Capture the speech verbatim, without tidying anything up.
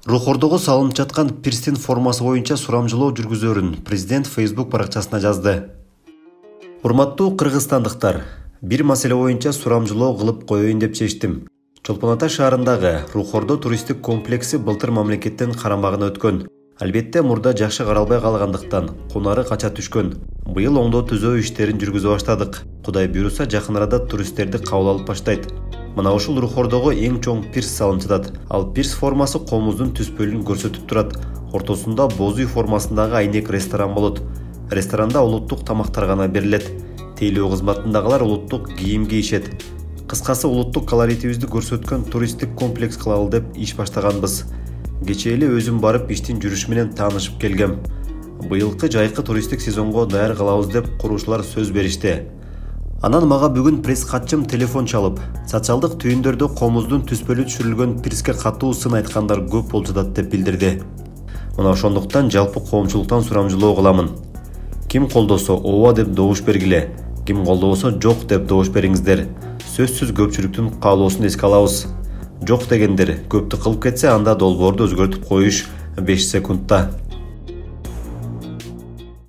Рухордого салынып жаткан пирстин формасы боюнча сурамжылоо жүргүзөрүн президент Facebook баракчасына жазды. Урматтуу кыргызстандыктар, бир маселе боюнча сурамжылоо кылып коеюн деп чечтим. Чолпон Ата шаарындагы Рухордо туристтик комплекси былтыр мамлекеттин карамагына өткөн. Албетте мурда жакшы каралбай калгандыктан кунары кача түшкөн. Быйыл оңдоо түзөө иштерин жүргүзө баштадык. Кудай буйруса жакын арада туристтерди кабыл алып баштайт. Мына ушул Рухордого эң чоң пирс салынып жатат. Ал пирс формасы комуздун түспөлүн көрсөтүп турат. Ортосунда боз үй формасындагы айнек ресторан болот. Ресторанда улуттук тамактар гана берилет. Тейлөө кызматындагылар улуттук кийим кийишет. Кыскасы улуттук колоритибизди көрсөткөн туристтик комплекс кылалы деп иш баштаганбыз. Кечээ эле өзүм барып иштин жүрүшү менен таанышып келгем. Быйылкы жайкы туристтик сезонго даяр кылабыз деп куруучулар сөз беришти. Анан мага бүгүн пресс катчым телефон чалып, социалдык түйүндөрдө комуздун түспөлү түшүрүлгөн пирске катуу сын айткандар көп болуп жатат деп билдирди. Мына ошондуктан жалпы коомчулуктан сурамжылоо кыламын. Ким колдосо ооба деп добуш бергиле, ким колдобосо жок деп добуш бериңиздер. Сөзсүз көпчүлүктүн каалоосун эске алабыз. Жок дегендер көптү кылып кетсе, анда долбоорду өзгөртүп коюш беш секундта.